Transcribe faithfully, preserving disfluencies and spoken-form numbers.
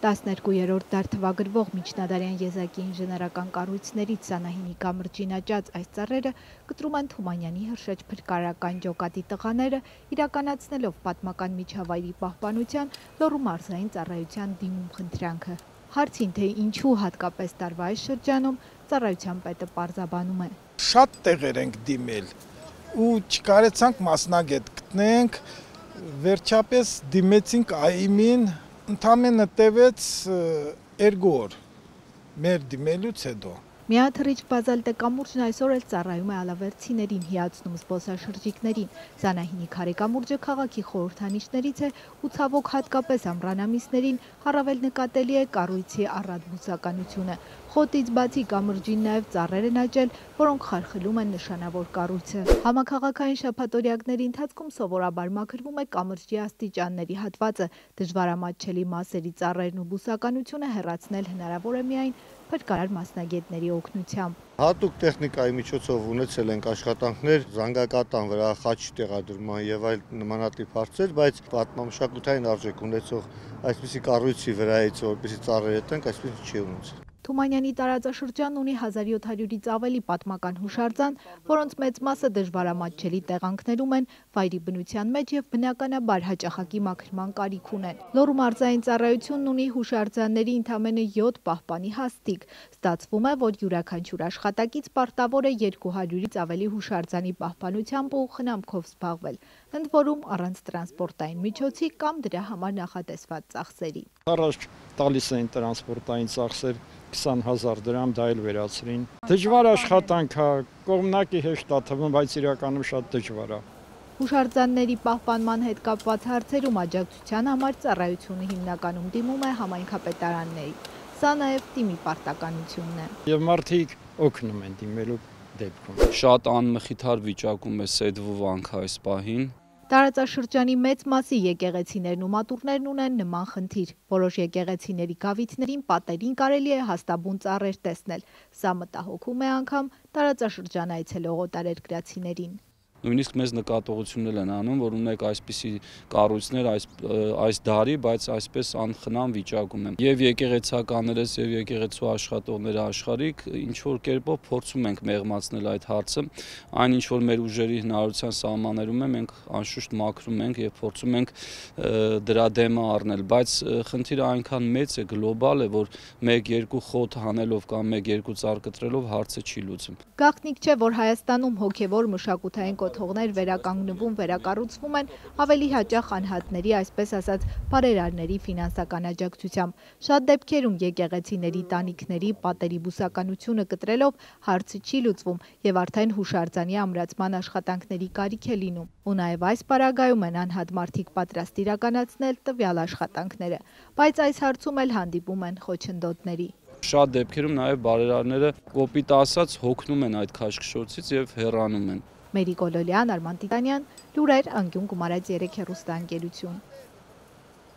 տասներկուերորդ դար թվագրվող միջնադարյան եզակի ինժեներական կառույցներից Սանահինի կամրջին աճած այս ծառերը կտրում են Թումանյանի հրշեջ փրկարարական ջոկատի տղաները, իրականացնելով պատմական միջավայրի պահպանության Լոռու մարզային ծառայության դիմում խնդրանքը։ Հարցին, թե ինչու հատկապես տարվա այս շրջանում, ծառայության պետը պարզաբանում է. Շատ տեղեր ենք դիմել ու չկարեցանք մասնագետ գտնենք, վերջապես դիմեցինք ԱԻՄ-ին, ընդամենը տևեց երկու օր մեր դիմելուց հետո։ Միաթռիչ բազալտե կամուրջն այսօր էլ ծառայում է ալավերցիներին, հիացնում զբոսաշրջիկներին։ Սանահինի քարե կամուրջը քաղաքի խորհրդանիշներից է ու ցավոք հատկապես ամռան ամիսներին առավել նկատելի է կառույցի առատ բուսականությունը։ Խոտից բացի կամրջին նաև ծառեր են աճել, որոնք խարխլում են նշանավոր կառույցը։ Համաքաղաքային շաբաթօրյակների ընթացքում սովորաբար մաքրվում է կամրջի աստիճանների հատվածը, դժվարամատչելի մասերի ծառերն ու բուսականությունը հեռացնել հնարավոր է միայն փրկարար մասնագետների օգնությամբ։ Հատուկ տեխնիկայի միջոցով ունեցել ենք աշխատանքներ զանգակատան վրա, խաչ տեղադրման եւ այլ նմանատիպ հարցեր, բայց պատմամշակութային արժեք ունեցող այսպիսի կառույցի վրայից, որպեսզի ծառերը տնենք, այսպես չի ունեցել։ Թումանյանի տարածաշրջանն ունի հազար յոթ հարյուրից ավելի պատմական հուշարձան, որոնց մեծ մասը դժվարամատչելի տեղանքներում են, վայրի բնության մեջ եւ բնականաբար հաճախակի մաքրման կարիք ունեն։ Լոռու մարզային ծառայությունն ունի հուշարձանների ընդամենը յոթ պահպանի հաստիք։ Ստացվում է, որ յուրաքանչյուր աշխատակից պարտավոր է երկու հարյուրից ավելի հուշարձանի պահպանությամբ ու խնամքով զբաղվել, ընդ որում առանց տրանսպորտային միջոցի կամ դրա համար նախատեսված ծախսերի։ Առաջ տալիս էին տրանսպորտային ծախսեր քսան հազար դրամ, դա էլ վերացրին։ Դժվար աշխատանք է, կողմնակի հեշտ է թվում, բայց իրականում շատ դժվար է։ Հուշարձանների պահպանման հետ կապված հարցերում աջակցության համար ծառայությունը հիմնականում դիմում է համայնքապետարանների։ Սա նաև թիմի պարտականությունն է։ Եվ մարդիկ օգնում են դիմելու դեպքում։ Շատ անմխիթար վիճակում է Սեդվու վանքը այս պահին։ Տարածաշրջանի մեծ մասի եկեղեցիներն ու մատուռներն ունեն նման խնդիր։ Որոշ եկեղեցիների գավիթներին, պատերին կարելի է հաստաբուն ծառեր տեսնել։ Սա մտահոգում է անգամ տարածաշրջան այցելող օտարերկրացիներին։ Նույնիսկ մեզ նկատողություններ են անում, որ ունեք այսպիսի կառույցներ այս այս դարի, բայց այսպես անխնամ վիճակում են։ Եվ եկեղեցականներս եւ եկեղեցու աշխատողները աշխարհիկ ինչ որ կերպով փորձում ենք մեղմացնել այդ հարցը, այն ինչ որ մեր ուժերի հնարավորության սահմաններում է, մենք անշուշտ մաքրում ենք եւ փորձում ենք դրա դեմը առնել, բայց խնդիրը այնքան մեծ է, գլոբալ է, որ մեկ-երկու խոտ հանելով կամ մեկ-երկու ծառ կտրելով հարցը չի լուծում։ Գաղտնիք չէ, որ Հայաստանում հոգեվոր մշակութային կոթողներ վերականգնվում, վերակառուցվում են ավելի հաճախ անհատների, այսպես ասած, բարերարների ֆինանսական աջակցությամբ։ Շատ դեպքերում եկեղեցիների տանիքների, պատերի բուսականությունը կտրելով հարցը չի լուծվում եւ արդեն հուշարձանի ամրացման աշխատանքների կարիք է լինում։ Ու նաեւ այս պարագայում են անհատ մարդիկ պատրաստ իրականացնել տվյալ աշխատանքները, բայց այս հարցում էլ հանդիպում են խոչընդոտների։ Շատ դեպքերում նաև բարերարները կոպիտ ասած հոգնում են այդ քաշքշոցից եւ հեռանում են։ Մերի Կոլոլյան, Արման Տիտանյան, լուրեր, անկյուն Գումարած երեք հեռուստաընկերություն։